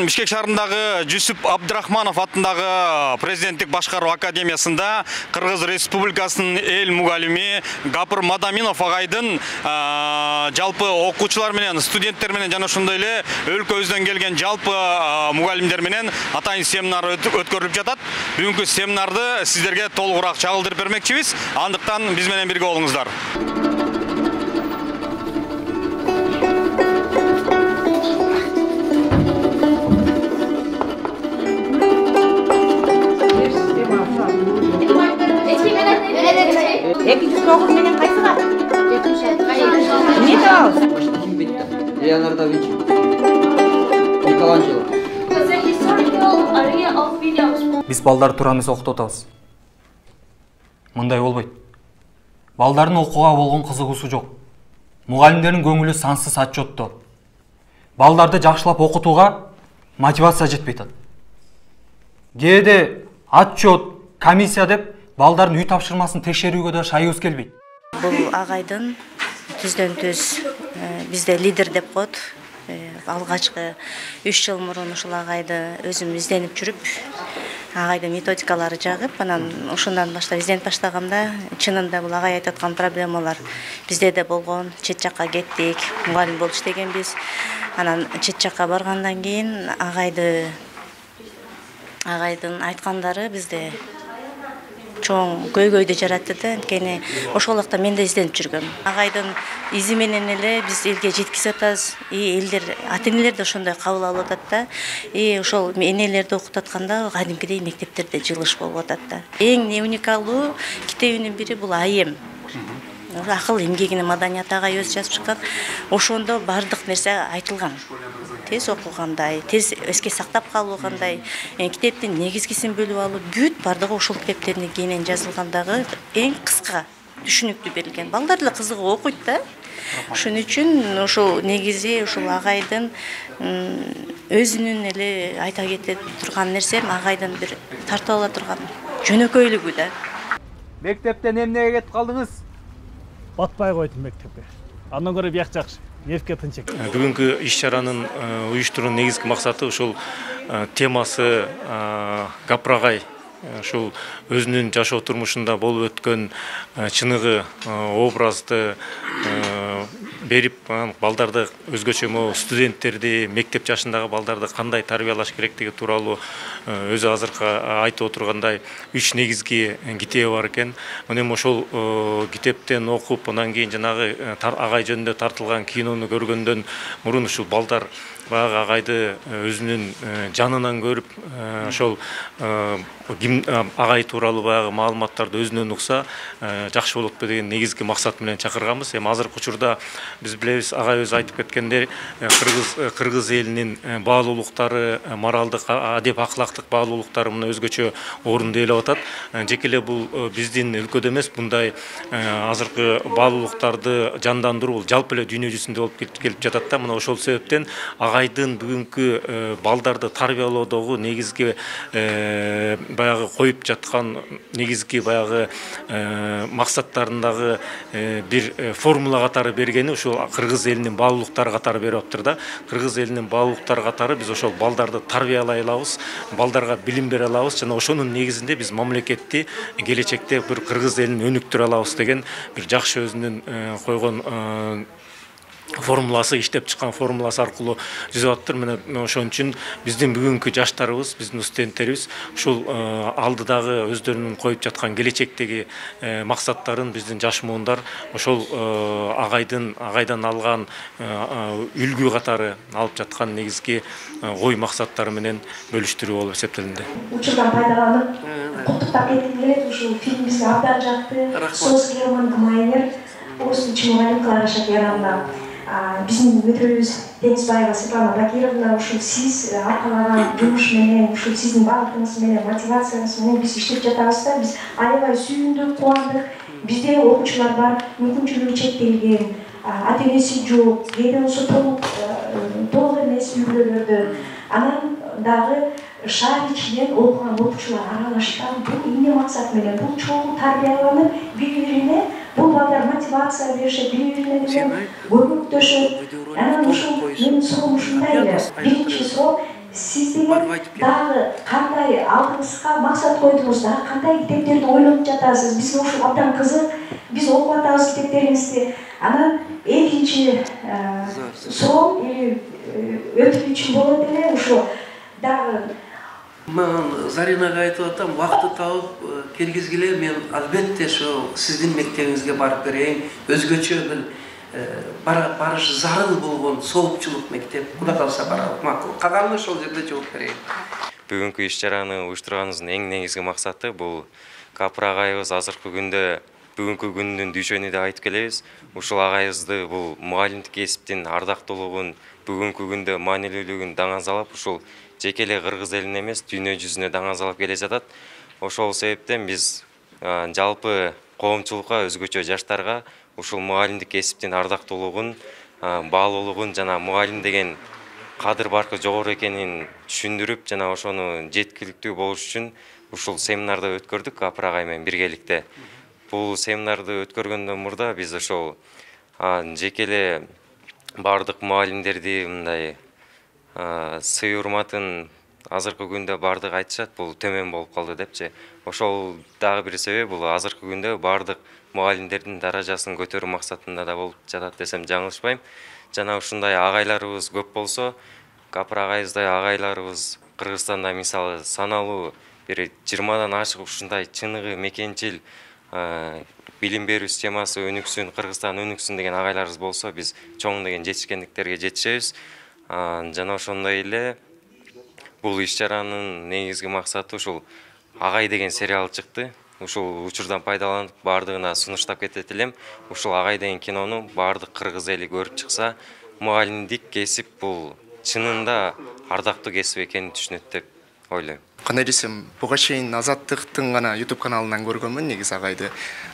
Бишкек шаарындагы Жүсүп Абдрахманов атындагы президенттик башкаруу академиясында Кыргыз Республикасынын эл мугалими Гапыр Мадаминов агайдын жалпы окуучулар менен, студенттер менен жана ошондой эле өлкөбүздөн келген жалпы мугалимдер менен атайын семинар өткөрүлүп жатат. Бүгүнкү семинарды сиздерге толугураак чагылдырып бермекчибиз. Андыктан биз менен бирге болуңуздар. Леонардо да Винчи, Микеланджело. Биз балдар туура эмес окутуп атабыз. Мындай болбойт. Балдардын окууга болгон кызыгуусу жок. Мугалимдердин көңүлү сансыз отчетто. Балдарды жакшылап окутууга мотивация жетпей атат. Кээде отчет, комиссия деп балдардын үй тапшырмасын текшерүүгө да шайыбыз келбейт. Бул агайдын түздөн-түз бизде лидер деп коет. Алгачкы 3 жыл мурун ушул агайды өзүм изденип жүрүп, агайдын методикалары жагып, анан ошондон баштап изденип баштаганда, чынында бул агай айтып аткан проблемалар бизде да болгон. Чет жакка кеттик, мугалим болуп иштегенбиз. Анан чет жакка баргандан кийин агайдын айткандары бизде чоң көйгөйдү жаратты да, анткени ошол убакта мен да изденип жүргөм. Агайдын изи менен эле биз элге жеткиziп атабыз. Элдер, ата-энелер да ошондой кабыл алып атат да. Ошол энелерди окутуп атканда кадимкидей мектептерде жылыш болуп атат да. Эң уникалдуу китебинин бири бул Айем. Акыл эмгегинин маданияты агай өзү жазып чыккан. Ошондо бардык нерсе айтылган. Тез окугандай, тез эске сактап калуу кандай, китептин негизгисин бөлүп алуу, бүт бардыгы ошол китептердин кийинен жазылгандагы эң кыска түшүнүктүү берилген. Балдар деле кызыгып окуйт да. Ошон үчүн ошол негизи ушул агайдын өзүнүн эле айта кете турган нерсем агайдын бир тартып ала турган жөнөкөйлүгү да. Мектептен эмнеге кетип калдыңыз? Батпай койдум мектепке. Андан көрө бияк жакшы. Нефке тынчык. Бүгүнкү иш-чаранын уюштуруунун негизги максаты ушул темасы Гапыр агай ушул өзүнүн жашоо турмушунда болуп өткөн чыныгы образды берип, балдарды өзгөчө студенттерди, мектеп жашындагы балдарды кандай тарбиялаш керектиги тууралуу өзү азыркы айтып отургандай 3 негизги китеби бар экен. Эми ошол китептен окуп, андан кийин жанагы агай жөнүндө тартылган кинону көргөндөн мурун ушул балдар баягы агайды өзүнүн жанынан көрүп, ошол агай тууралуу баягы маалыматтарды өзүнөн укса жакшы болот деген негизги максат менен чакырганбыз. Эми азыркы учурда биз билебиз, агай өзү айтып кеткендей, кыргыз элинин баалуулуктары, моралдык, адеп акылактык баалуулуктары мына өзгөчө орунду ээлеп атат. Жеке эле бул биздин өлкөдө эмес, мындай азыркы баалуулуктарды жандандыруу бул жалпы эле дүйнө жүзүндө болуп келип жатат да. Мына ошол себептен агайдын бүгүнкү балдарды тарбиялоодогу негизги баягы коюп жаткан негизги баягы максаттарындагы бир формула катары бергени ушул кыргыз элинин баалуулуктары катары берип аптыр да. Кыргыз элинин баалуулуктары катары биз ошол балдарды тарбиялай алабыз, балдарга билим бере алабыз жана ошонун негизинде биз мамлекетти келечекте бир кыргыз элин өнүктүрө алабыз деген бир жакшы өзүнүн койгон формуласы, иштеп чыккан формуласы аркылуу жүзүп атыптыр. Мына ошон үчүн биздин бүгүнкү жаштарыбыз, биздин студенттерибиз ушул алдыдагы өздөрүнүн коюп жаткан келечектеги максаттарын биздин жаш муундар ошол агайдан алган үлгү катары алып жаткан негизги ой максаттары менен бөлүштүрүү болуп эсептелинди. Учурдан пайдаланып, куттуктап кетким келет. Ушул фильм бизге абдан жакты. Соос Герман Майнер, орус тилчи мугалим Клара Шакировна, биздин өтөбүз Денисбаева Светлана Бакировна, ушул сиз аркалаган жумуш менен, ушул сиздин багытыңыз менен, мотивацияңыз менен биз иштеп жатабыз да. Биз аябай сүйүндүк, кубандык. Бизде окуучулар бар, мүмкүнчүлүгү чектелген, ата-энеси жок, кээде болсо толук эмес үй-бүлөлөрдө. Анан дагы шаар ичинен окуган окуучулар аралашкан. Бул эмне максат менен? Бул чогуу тарбияланып, бири-бирине бул балдар мотивация беришет, бири-бирине көмөктөшөт. Анан ушул менин суроом ушундай эле. Биринчи суроо, Сиз деген дагы кандай алдыңызга максат койдуңуз, дагы кандай китептерди ойлонуп жатасыз? Бизге ушул абдан кызык. Биз окуп атабыз китептериңизди. Анан экинчи суроо өтүп үчүн болот эле ушу дагы Мен Заринага айтып атам, вакытты тауып келгизгиле, мен албетте ошо сиздин мектебиңизге барып берейин. Өзгөчө бир барыш зарыл болгон соопчулук мектеп. Кудай калса барабыз. Макул. Калганын ошол жерде жооп берейин. Бүгүнкү иш-чараны уюштурганыбыздын эң негизги максаты бул Капыр агайыбыз азыркы күндө бүгүнкү күндүн дүйшөнү деп айтып келебиз. Ушул агайыбызды бул мугалимдик кесиптин ардактуулугун, бүгүнкү күндө маанилүүлүгүн даңазалап, ушул жеке эле кыргыз элине эмес, дүйнө жүзүнө даңазалап келе жатат. Ошол себептен биз жалпы коомчулукка, өзгөчө жаштарга ушул мугалимдик кесиптин ардактуулугун, баалуулугун жана мугалим деген кадыр баркы жогору экенин түшүндүрүп, жана ошону жеткиликтүү болуш үчүн ушул семинарды өткөрдүк Капыр агай менен биргеликте. Бул семинарды өткөргөндөн мурда биз ошол жеке эле бардык мугалимдерди мындай сый урматын азыркы күндө бардык айтышат, бул төмөн болуп калды депчи. Ошол дагы бир себеп, бул азыркы күндө бардык мугалимдердин даражасын көтөрүү максатында да болуп жатат десем жаңылышпайм. Жана ушундай агайларыбыз көп болсо, Капыр агайыбыздай агайларыбыз Кыргызстанда мисалы саналуу бир 20дан ашык ушундай чыныгы мекенчил билим берүү системасы өнүксүн, Кыргызстан өнүксүн деген агайларыбыз болсо, биз чоң деген жетишкендиктерге жетишебиз. Жана ошондой эле бул иш-чаранын негизги максаты ушул Агай деген сериал чыкты. Ушул учурдан пайдаланып бардыгына сунуштап кетет элем. Ушул Агай деген кинону бардык кыргыз эли көрүп чыкса, мугалимдик кесип бул чынында ардактуу кесип экенин түшүнөт деп ойлойм. Кандай десем, буга чейин Азаттыктын гана YouTube каналынан көргөнмүн негизи Агайды.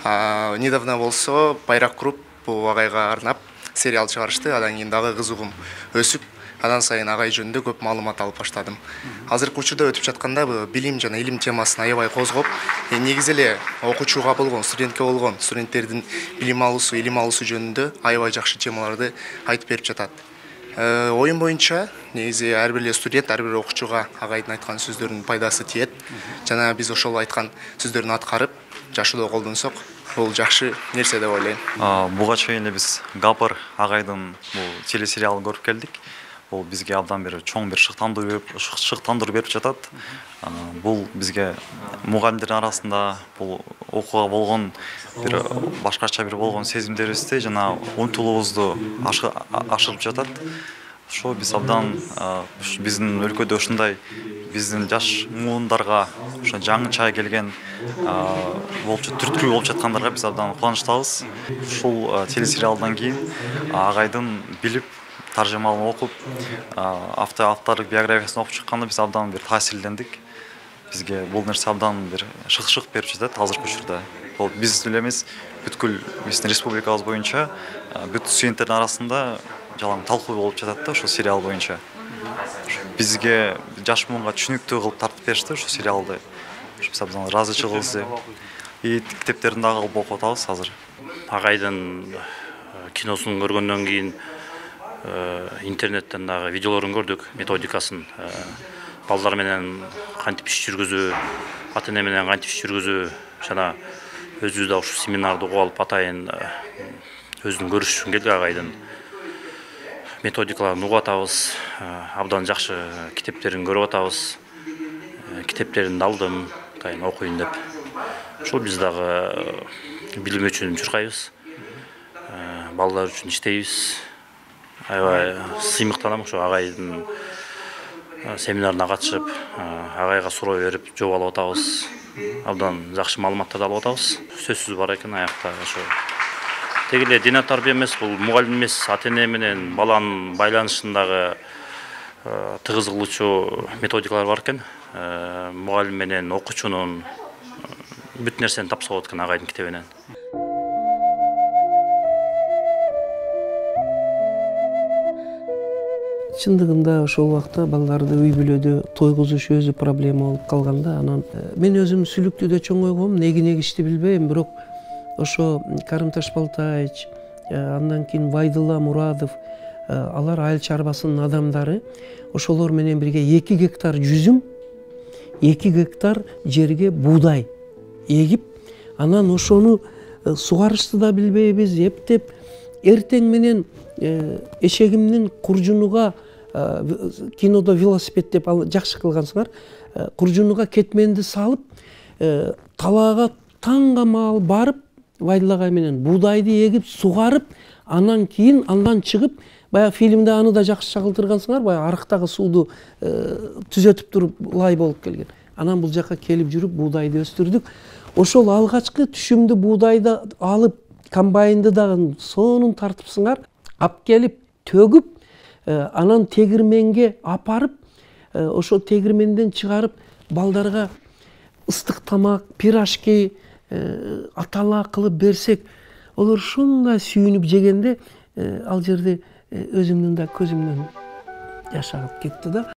Недавно болсо Байрак Груп бул Агайга арнап сериал чыгарышты. Андан кийин дагы кызыгым өсүп, андан сайын Агай жөнүндө көп маалымат алып баштадым. Азыркы учурда өтүп жатканда билим жана илим темасын аябай козгоп, негизи эле окуучуга болгон, студентке болгон, студенттердин билим алуусу, илим алуусу жөнүндө аябай жакшы темаларды айтып берип жатат. Оюм боюнча, негизи ар бир эле студент, ар бир окуучуга Агайдын айткан сөздөрүнүн пайдасы тиет. Жана биз ошол айткан сөздөрүн аткарып, жашоодо колдонсок, бул жакшы нерсе деп ойлойм. Буга чейин эле биз Капыр агайдын бул телесериалын көрүп келдик. Бул бизге абдан бир чоң бир шыктандыруу берип жатат. Бул бизге мугалимдердин арасында бул окууга болгон бир башкача бир болгон сезимдерибизди жана умтулуубузду ашырып жатат. Ошо биз абдан биздин өлкөдө ушундай биздин жаш муундарга ошо жаңыча келген болчу түрткү болуп жаткандарга биз абдан кубанычтабыз. Ушул телесериалдан кийин Агайдын билип таржымалын окуп, автордук биографиясын окуп чыкканда биз абдан бир таасирлендик. Бизге бул нерсе абдан бир шык берип жатат азыркы учурда. Бул биз эле эмес, бүткүл биздин республикабыз боюнча бүт студенттердин арасында жалаң талкуу болуп жатат да ошол сериал боюнча. Бизге жаш муунга түшүнүктүү кылып тартып беришти ошол сериалды. Биз абдан ыраазычылыгыбыз и китептерин дагы алып окуп атабыз азыр. Агайдын киносун көргөндөн кийин интернеттен дагы видеолорун көрдүк, методикасын. Балдар менен кантип иш жүргүзүү, ата-эне менен кантип иш жүргүзүү, жана өзүбүз да ушул семинарды угуп алып атайын өзүн көрүш үчүн келдик. Агайдын методикаларын угуп атабыз, абдан жакшы китептерин көрүп атабыз. Китептерин алдым, атайын окуйн деп. Ошол биз дагы билим үчүн чуркайбыз, балдар үчүн иштейбиз. Аябай сыймыктанам ошо Агайдын семинарына катышып, Агайга суроо берип жооп алып атабыз. Абдан жакшы маалыматтарды алып атабыз. Сөзсүз бар экен аякта ошо. Теги эле диний тарбия эмес, бул мугалим эмес, ата-эне менен баланын байланышындагы тыгыз кылуучу методикалар бар экен. Мугалим менен окуучунун бүт нерсени тапса болот экен Агайдын китебинен. Чындыгында ошол убакта балдарды үй бүлөдө тойгузуш өзү проблема болуп калганда, анан мен өзүм Сүлүктүдө чоңойгом, негичти билбейм, бирок ошо Карым Ташбалтаевич, андан кийин Байдулла Мурадов, алар айыл чарбасынын адамдары ошолор менен бирге 2 гектар жүзүм, 2 гектар жерге буудай эгип, анан ошону сугарышты да билбейбиз, эптеп эртең менен эшегимдин куржунуга, кинодо велосипед деп жакшы кылгансыңар, куржунуга кетменди салып, талаага таңга маал барып, Вайдыл менен буудайды эгип, сугарып, андан кийин андан чыгып, баягы фильмде аны да жакшы чагылтыргансыңар, баягы арыктагы сууду түзөтүп туруп лай болуп келген. Анан бул жака келип жүрүп буудайды өстүрдүк. Ошол алгачкы түшүмдү буудайды алып, комбайнды дагы сонун тартыпсыңар, ап келип төгүп, анан тегирменге апарып, ошол тегирменден чыгарып балдарга ыстык тамак, пирожки, атала кылып берсек, олар ушундай сүйүнүп жегенде ал жерде өзүмдүн да көзүмдөн жаш агып кетти да.